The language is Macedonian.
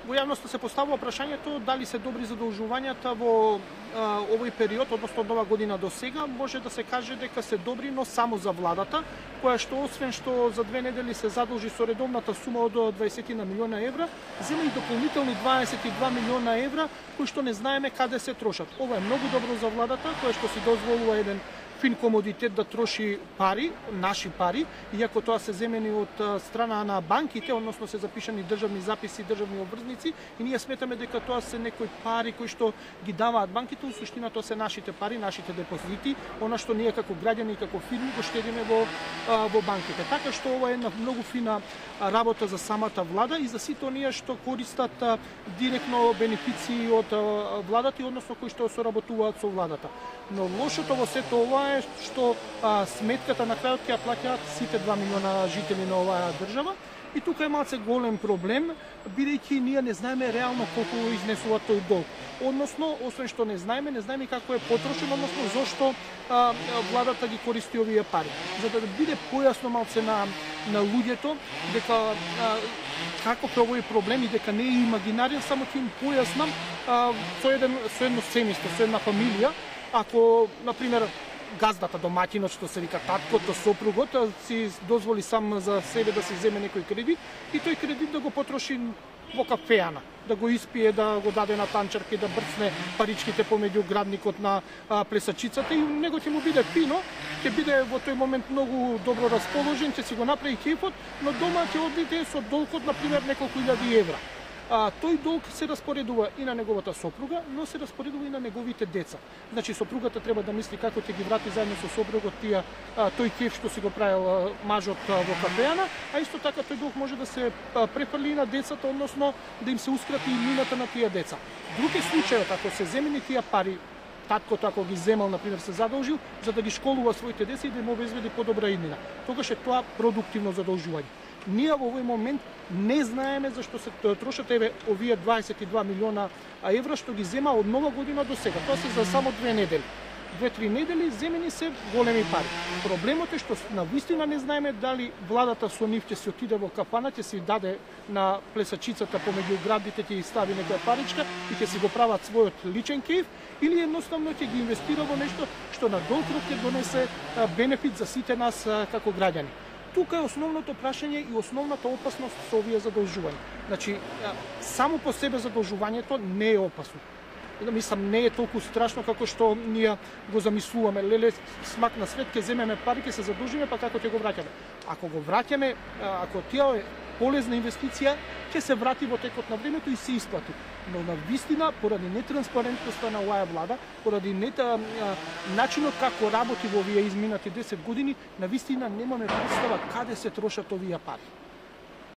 во јавноста се поставува прашањето дали се добри задолжувањата во овој период, односно од нова година до сега. Може да се каже дека се добри, но само за владата, која што освен што за 2 недели се задолжи со редовната сума од 20 милиона евра, зема и дополнителни 22 милиона евра, кои што не знаеме каде се трошат. Ова е многу добро за владата, која што си дозволува еден фин комодитет да троши пари, наши пари, иако тоа се земени од страна на банките, односно се запишани државни записи, државни обврзници, и ние сметаме дека тоа се некои пари кои што ги даваат банките, у суштина тоа се нашите пари, нашите депозити, она што ние како граѓани и како фирми го штедиме во банките. Така што ова е една многу фина работа за самата влада и за сите оние што користат директно бенефиции од владата, односно кои што соработуваат со владата. Но лошото во сето ова е што сметката на крајот ќе ја плаќаат сите 2 милиона жители на оваа држава. И тука е малце голем проблем, бидејќи ние не знаеме реално колку изнесува тој долг. Односно, освен што не знаеме како е потрошен, односно зошто владата ги користи овие пари. За да биде појасно малце на луѓето дека каков е овој проблем и дека не е имагинарен, само ќе им појаснам со едно семејство, со една фамилија. Ако, например, газдата, домаќинот, што се вика таткото, сопругот, си дозволи сам за себе да си земе некој кредит и тој кредит да го потроши во кафеана, да го испие, да го даде на танчарки, да брцне паричките помеѓу градникот на плесачицата и него ќе му биде фино, ќе биде во тој момент многу добро расположен, ќе си го направи кефот, но дома ќе одиде со долгот, например, неколку илјади евра. Тој долг се распоредува и на неговата сопруга, но се распоредува и на неговите деца. Значи, сопругата треба да мисли како ќе ги врати заедно со сопругот тој кеф што си го правил мажот во кафеана, а исто така тој долг може да се префрли на децата, односно да им се ускрати и мината на тие деца. Друг е случајот, ако се земени тие пари, таткото ако ги земал, например, се задолжил за да ги школува своите деца и да им обезбеди подобра иднина. Тогаш е тоа продуктивно задолжување. Ние во овој момент не знаеме зашто се трошат овие 22 милиона евра што ги зема од нова година до сега. Тоа се за само 2 недели. 2-3 недели земени се големи пари. Проблемот е што навистина не знаеме дали владата со нив ќе се отиде во кафана, ќе си даде на плесачицата помеѓу градите, ќе стави некоја паричка и ќе си го прават својот личен кеф, или едноставно ќе ги инвестира во нешто што на долг рок ќе донесе бенефит за сите нас како граѓани. Тука е основното прашање и основната опасност со овие задолжувања. Значи, само по себе задолжувањето не е опасно. Мислам, не е толку страшно како што ние го замислуваме. Леле, смак на свет, ќе земеме пари, ќе се задолжиме, па како ќе го враќаме. Ако го враќаме, ако тие е полезна инвестиција, ќе се врати во текот на времето и се исплати. Но на вистина, поради нетранспарентноста на оваа влада, поради начинот како работи во овие изминати 10 години, на вистина немаме представа каде се трошат овие пари.